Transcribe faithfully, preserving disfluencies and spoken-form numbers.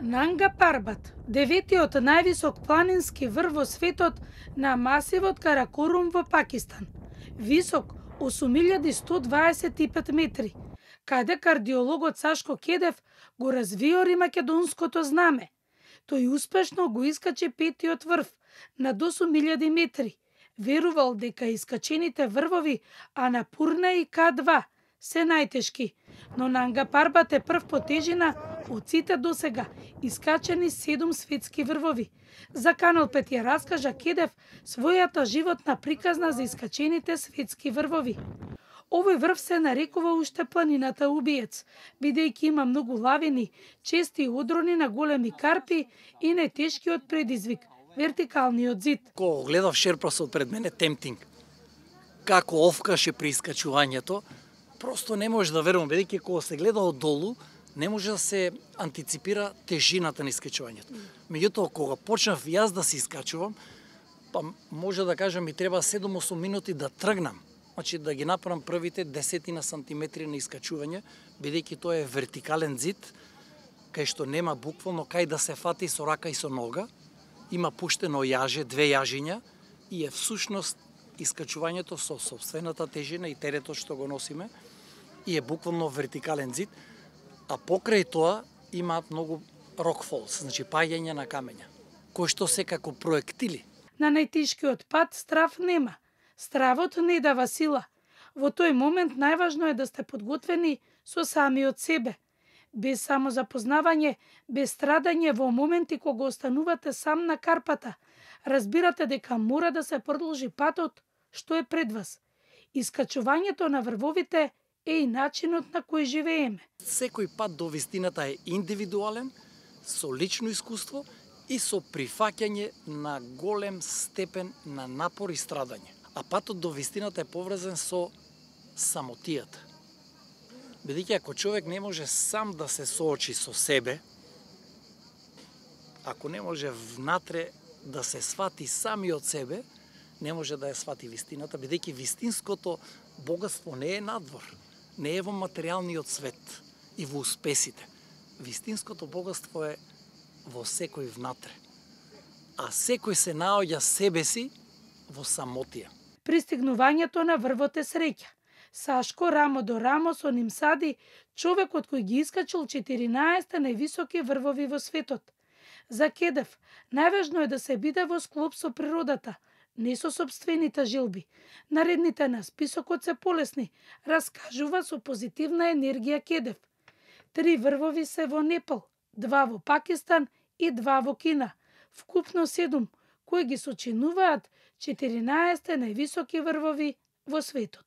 Нанга Парбат, деветиот највисок планински врв во светот на масивот Каракорум во Пакистан, висок осум илјади сто дваесет и пет метри, каде кардиологот Сашко Кедев го развиори македонското знаме. Тој успешно го искачи петиот врв над осум илјади метри. Верувал дека искачените врвови Анапурна и К два се најтешки, но Нанга Парбат е прв по тежина од сите досега искачени седум светски врвови. За Канал пет ја раскажа Кедев својата животна приказна за искачените светски врвови. Овој врв се нарекува уште планината убиец, бидејќи има многу лавини, чести одрони на големи карпи и најтешкиот предизвик – вертикалниот зид. Кога гледав шерпасот пред мене, темтинг, како овкаше при искачувањето, просто не може да верувам, бидејќи кога се гледа од долу, не може да се антиципира тежината на искачувањето. Меѓутоа, кога почнав јас да се искачувам, па може да кажам ми треба седум-осум минути да тргнам. Значи да ги направам првите десетина сантиметри на искачување, бидејќи тоа е вертикален зид, кај што нема буквално кај да се фати со рака и со нога, има пуштено јаже, две јажиња, и е всушност искачувањето со собствената тежина и теретот што го носиме, и е буквално вертикален зид, а покрај тоа имаат многу рокфолс, значи паѓање на камења, кои што се како проектили. На најтешкиот пат страв нема. Стравот не дава сила. Во тој момент најважно е да сте подготвени со самиот себе. Без само запознавање, без страдање во моменти кога останувате сам на карпата, разбирате дека мора да се продолжи патот што е пред вас. Искачувањето на врвовите е и начинот на кој живееме. Секој пат до вистината е индивидуален, со лично искуство и со прифаќање на голем степен на напор и страдање. А патот до вистината е поврзан со самотијата. Бидејќи ако човек не може сам да се соочи со себе, ако не може внатре да се свати самиот себе, не може да ја свати вистината, бидејќи вистинското богатство не е надвор, не е во материјалниот свет и во успесите. Вистинското богатство е во секој внатре. А секој се наоѓа себе си во самотија. Пристигнувањето на врвот е среќа. Сашко рамо до рамо со ним сади човекот кој ги искачил четиринаесет највисоки врвови во светот. За Кедев, најважно е да се биде во склоп со природата, не со собствените жилби. Наредните на списокот се полесни, раскажува со позитивна енергија Кедев. Три врвови се во Непал, два во Пакистан и два во Кина. Вкупно седум, кои ги сочинуваат четиринаесет највисоки врвови во светот.